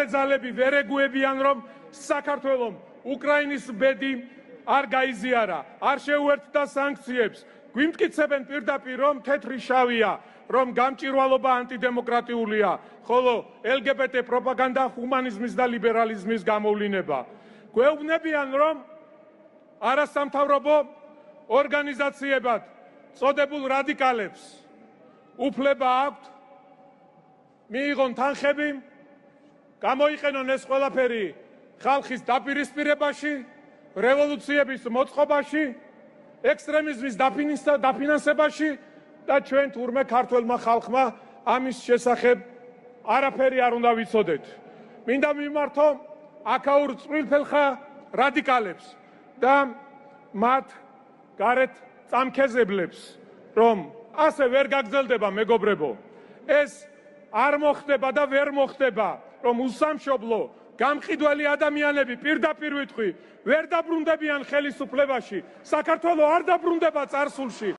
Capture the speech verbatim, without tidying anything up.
მთავარი ძალები ვერ ეგუებიან, რომ საქართველოს უკრაინის ბედი არ გაიზიარა, არ შეუერთდა სანქციებს, გვიმტკიცებენ პირდაპირ, რომ თეთრი შავია, რომ გამჭირვალობა ანტიდემოკრატიულია, ხოლო ელგებეტე პროპაგანდა ჰუმანიზმის და ლიბერალიზმის გამოვლინება. გვეუბნებიან, რომ არასამთავრობო ორგანიზაციებად წოდებულ რადიკალებს უფლება აქვთ მიიღონ თანხები, გამოიყენონ ეს ყველაფერი ხალხის დაპირისპირებაში, რევოლუციების მოწყობაში, ექსტრემიზმის დაფინანსებაში და ჩვენ თურმე ქართველმა ხალხმა ამის შესახებ არაფერი არ უნდა ვიცოდეთ. მინდა მიმართო აქაურ წყვილფელხა რადიკალებს და მათ გარეთ წამქეზებლებს, რომ ასე ვერ გაგრძელდება მეგობრებო. ეს არ მოხდება და ვერ მოხდება, რომ უსამშობლო გამყიდველი ადამიანები პირდაპირ ვიტყვი, ვერ დაბრუნდებიან ხელისუფლებაში, საქართველო არ დაბრუნდება წარსულში.